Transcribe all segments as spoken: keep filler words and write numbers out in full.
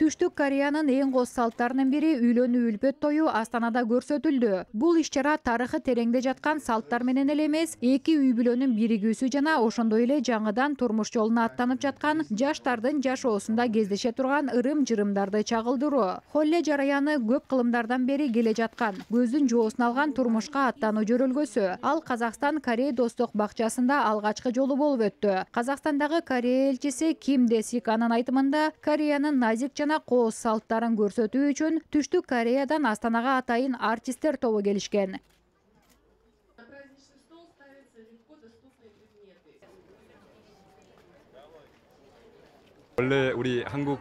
Түштүк Кореянын эң коз салттарынын бири үйлөнүү үлпөт тою Астанада көрсөтүлдү. Бул иш-чара тарыхы тереңде жаткан салттар менен эле эмес, эки үй бүлөнүн биригүүсү жана ошондой эле жаңыдан турмуш жолуна аттанып жаткан жаштардын жашоосунда кездеше турган ырым-жырымдарды чагылдыруу. Холле жараяны көп кылымдардан бери келе жаткан, көздүн жоосун алган турмушка аттануу жөрөлгөсү. Ал Казакстан Корея достук бакчасында алгачкы жолу болуп өттү. Казакстандагы Корея элчиси Ким Десик анын айтымында, Кореянын назик жана кооз салттарын көрсөтүү үчүн Түштүк Кореядан Астанага атайын артисттер тобу келишкен. 원래 우리 한국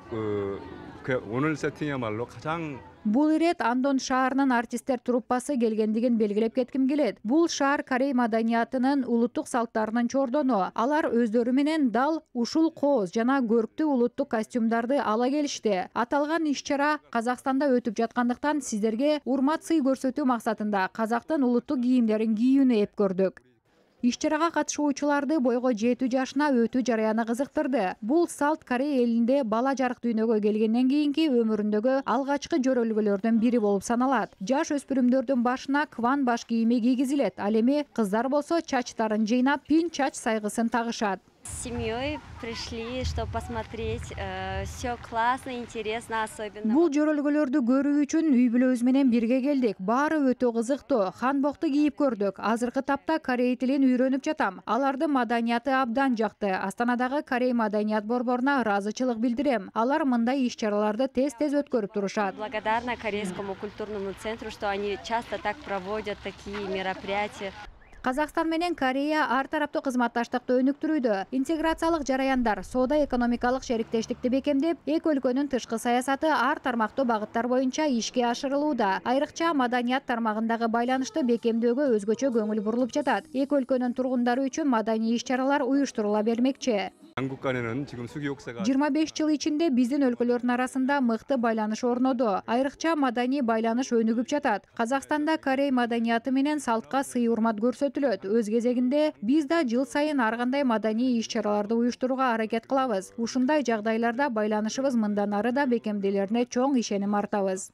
그 오늘 세팅이야말로 가장 Бул ирет Андон шаарынын артисттер труппасы келгендигин белгилеп кетким келет. Бул шаар Корей маданиятынын улуттук салттарынын чордону. Алар өздөрү менен дал ушул кооз жана көрктүү улуттук костюмдарды ала келишти. Аталган иш-чара Казакстанда өтүп жаткандыктан сиздерге урмат сый көрсөтүү максатында казактын улуттук кийимдерин кийүүнү эп көрдүк. Иш-чарага катышуучуларды бойго жетүү жашына өтүү жараяны кызыктырды. Бул салт Корея элинде бала жарык дүйнөгө келгенден кийинки өмүрүндөгү алгачкы жөрөлгөлөрдөн бири болуп саналат. Жаш өспүрүмдөрдүн башына кван баш кийими кийгизилет. Ал эми кыздар болсо чачтарын жыйнап, пин чач сайгысын тагышат. С семьей пришли, чтобы посмотреть. Все классно, интересно, особенно. Бул жөрөлгөлөрдү көрүү үчүн үй бүлөбүз менен бирге келдик. Баары өтө кызыктуу. Ханбокту кийип көрдүк. Азыркы тапта корей тилин үйрөнүп жатам. Алардын маданияты абдан жакты. Астанадагы Корей маданият борборуна ыраазычылык билдирем. Алар мындай иш-чараларды тез-тез өткөрүп турушат. Благодарна Корейскому культурному центру, что они часто так проводят такие мероприятия. Казакстан менен Корея ар тараптуу кызматташтыкты өнүктүрүүдө. Интеграциялык жараяндар, соода-экономикалык шериктештикти бекемдеп, эки өлкөнүн тышкы саясаты ар тармактуу багыттар боюнча ишке ашырылууда. Айрыкча маданият тармагындагы байланышты бекемдөөгө өзгөчө көңүл бурулуп жатат. Эки өлкөнүн тургундары үчүн маданий иш-чаралар уюштурула бермекчи. жыйырма беш жыл ичинде биздин өлкөлөрдүн арасында мыкты байланыш орноду. Айрыкча маданий байланыш өнүгүп жатат. Казакстанда Корей маданияты менен салтка сый урмат көрсөтүлөт. Өз кезегинде биз да жыл сайын ар кандай маданий иш-чараларды уюштурууга аракет кылабыз. Ушундай жагдайларда байланышыбыз мындан ары да бекемделерине чоң ишеним артабыз.